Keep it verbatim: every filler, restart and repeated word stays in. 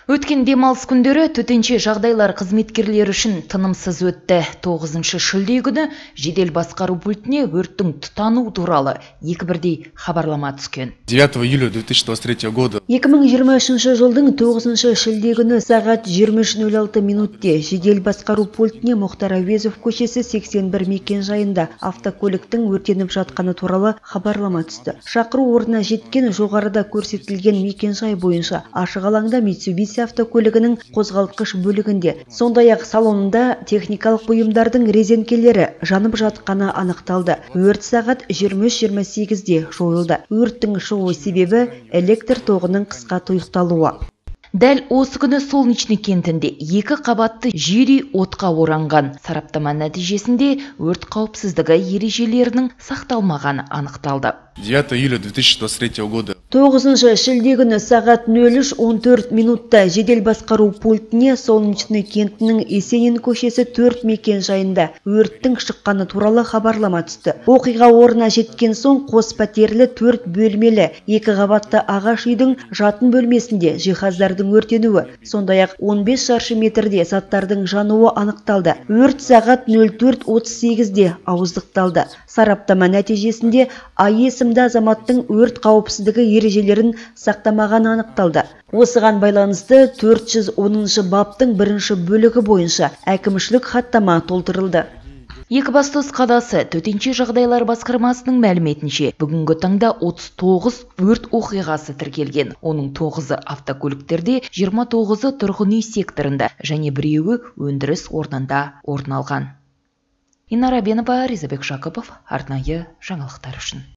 Өткен демалыс күндері төтенше жағдайлар қызметкерлері үшін тынымсыз өтті. тоғызыншы шілде күні жедел басқару пультіне өрттің тұтану туралы екі бірдей хабарлама түскен. девятого июля две тысячи двадцать третьего года екі мың жиырма үшінші жылдың тоғызыншы шілде күні сағат жиырма үш нөл алты минутте жедел басқару пультіне Мұхтар Әуезов көшесі сексен бір мекен жайында автокөліктің өртеніп жатқаны туралы хабарлама түсті. Шақыру орнына жеткен жоғарыда көрсетілген мекен жай бойынша ашық алаңда Mitsubishi автокөлігінің қозғалтқыш бөлігінде, сондай-ақ салонында техникалық бұйымдардың резеңкелері жанып жатқаны анықталды. Өрт сағат жиырма үш жиырма сегізде жойылды. Өрттің шығу себебі электр тоғының қысқа тұйықталуы. Дәл осы күні Солнечный кентінде екі қабатты жер отқа оранған. Сараптама нәтижесінде өрт қауіпсіздігі ережелерінің сақталмағаны анықталды. девятого июля две тысячи двадцать третьего года тоғызыншы шілде күні сағат нөл үш он төрт минутта жедел басқару пультіне Солнечный кентінің Есенин көшесі төрт мекен жайында өрттің шыққаны туралы хабарлама түсті. Оқиға орнына жеткен соң қос пәтерлі төрт бөлмелі екі қабатты ағаш үйдің жатын бөлмесінде жиһаздардың өртенуі, сондай-ақ он бес шаршы метрде заттардың жануы анықталды. Өрт сағат нөл төрт отыз сегізде ауыздықталды. Сараптама нәтижесінде А есімді азаматтың өрт қауіпсіздігі ережелерін сақтамағаны анықталды. Осыған байланысты төрт жүз оныншы баптың бірінші бөлігі бойынша әкімшілік хаттама толтырылды. Екібастұз қаласы төтенше жағдайлар басқармасының мәліметінше, бүгінгі таңда отыз тоғыз өрт оқиғасы тіркелген. Оның тоғызы автокөліктерде, жиырма тоғызы тұрғын үй секторында және біреуі өндіріс орнында орын алған. Инара Бенова, Ризабек Жақыпов, арнайы жаңалықтар үшін.